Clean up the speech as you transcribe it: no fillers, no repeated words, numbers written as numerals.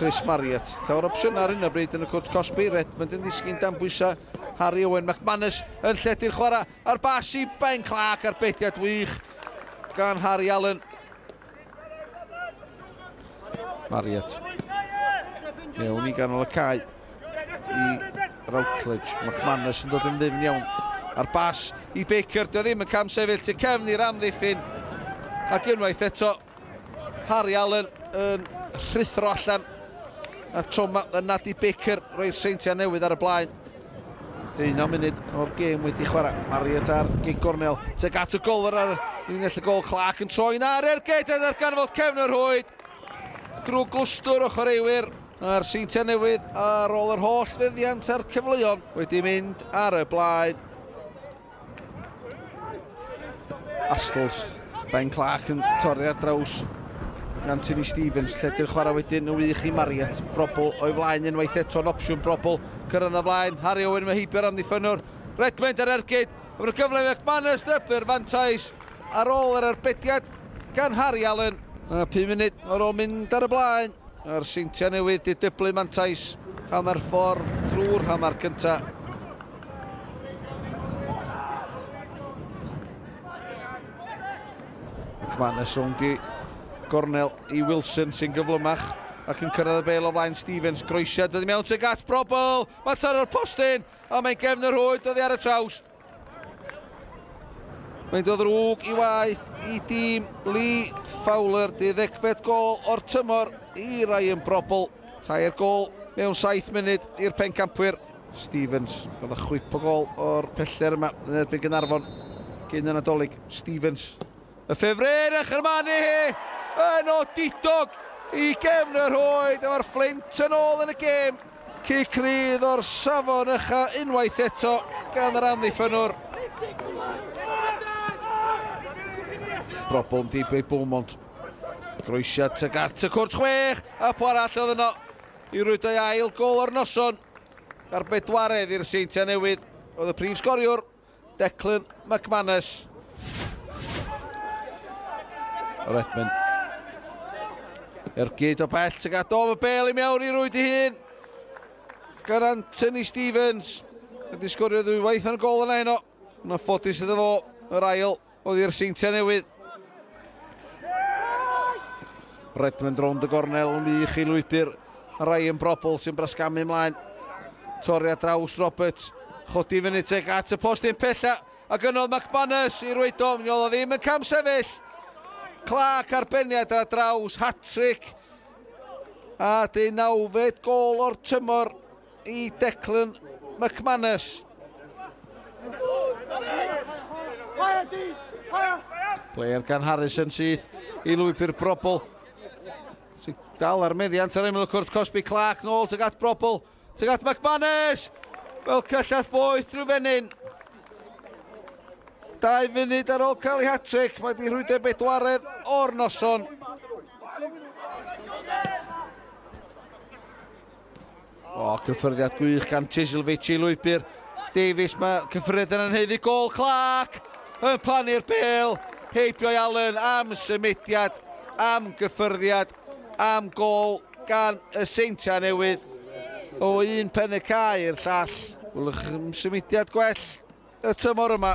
Chris Marriott. Llawer opsiwn ar hyn o bryd yn y cwrt cosbi. Redmond yn ddisgyn dan bwysau. Harry Owen McManus yn lledu'r chwarae. A'r bas i Ben Clark a'r bediad wych gan Harry Allen. Marriott. Mewn i ganol y cae i Routledge. McManus yn dod yn ddyfn iawn. A'r bas i Baker. Dio ddim yn cam sefyll tu cefn i'r amddiffyn. Ac unwaith eto Harry Allen yn rhuthro allan. A tro yma yn nadu Baker roi'r Seintiau Newydd ar y blaen. 19 munud o'r gêm wedi chwarae. Marriott ar gig gornel. Tuag at y golwr ar linell y gol. Clark yn troi na ar ergyd a ddarganfod cefn yr rhwyd. Drwy glwstwr o chwaraewyr. A'r Seintiau Newydd ar ôl yr holl feddiant a'r cyfleon wedi mynd ar y blaen. Astles. Ben Clark yn torri ar draws Anthony Stevens, lledu'r chwarae wedyn yn wych i Marriott. Brobl o'i flaen unwaith eto yn opsiwn Brobl. Cyrraedd o flaen, Harry Owen mae heibio'r amddiffynnwr. Redmond ar ergyd, efo'r gyfle McManus, dyblu'r fantais ar ôl yr arbediad gan Harry Allen. A 5 munud ar ôl mynd ar y blaen. A'r Seintiau Newydd di dyblu mantais hanner ffordd drwy'r hanner cyntaf. McManus rownd i gornel i Wilson sy'n gyflymach ac yn cyrraedd y bel o flaen Stevens. Groesiad dod i mewn tuag at Brobl. Mae taro'r postyn a mae'n gefn y rhwyd oddi ar y trawst. Mae'n dod ddrwg i waith i dîm Lee Fowler. 12fed gol o'r tymor i Ryan Brobl. 3 gol mewn 7 munud i'r pencampwyr. Stevens, oedd y chwip o gol o'r peller yma yn erbyn Gaernarfon cyn y Nadolig. Stevens, y ffefryn a chyrmanu hi yn odidog i gefn y rhwyd. Efo'r Fflint yn ôl yn y gêm. Cic rydd o'r safon ucha unwaith eto gan yr amddiffynnwr. Brobl yn dibwy Beaumont. Groesiad tuag at y cwrt 6 a po arall oedd yno i rwydau ail gol o'r noson. Ar bedwaredd i'r Seintiau Newydd oedd y prif sgoriwr Declan McManus. Redmond. Ergyd o bell tuag at y bel i mewn i rwyd i hun. Gan Anthony Stevens. Wedi sgorio ddwywaith yn y gol yna heno. Yna ffodus iddo fo yr ail oedd i'r Seintiau Newydd. Redmond rownd y gornel yn wych i lwybr Ryan Brobl sy'n brasgamu ymlaen. Torri ar draws Roberts. Chodi fyny tuag at y postyn pella. Ac yno McManus i rwydo. Mi oedd o ddim yn cam sefyll. Clark arbeniad ar draws, hat-trick. A 19fed gol o'r tymor i Declan McManus. Player gan Harrison syth i lwybr Brobl. Sy'n dal ar meddiant ar ymyl y cwrt cosbi. Clark nôl tuag at Brobl. Tuag at McManus! Fel cyllell boeth drwy fenyn. 2 munud ar ôl cael ei hat-trick, mae di rhwydo bedwaredd o'r noson. O, cyffyrddiad gwych gan Chislovich i lwybr Davies. Mae cyffyrddiad yn anheiddi gol. Clark yn plannu'r bel. Heibio i Allen am symudiad, am gyffyrddiad, am gol gan y Seintiau Newydd. O un pen y cae i'r llall. Wylwch symudiad gwell y tymor yma.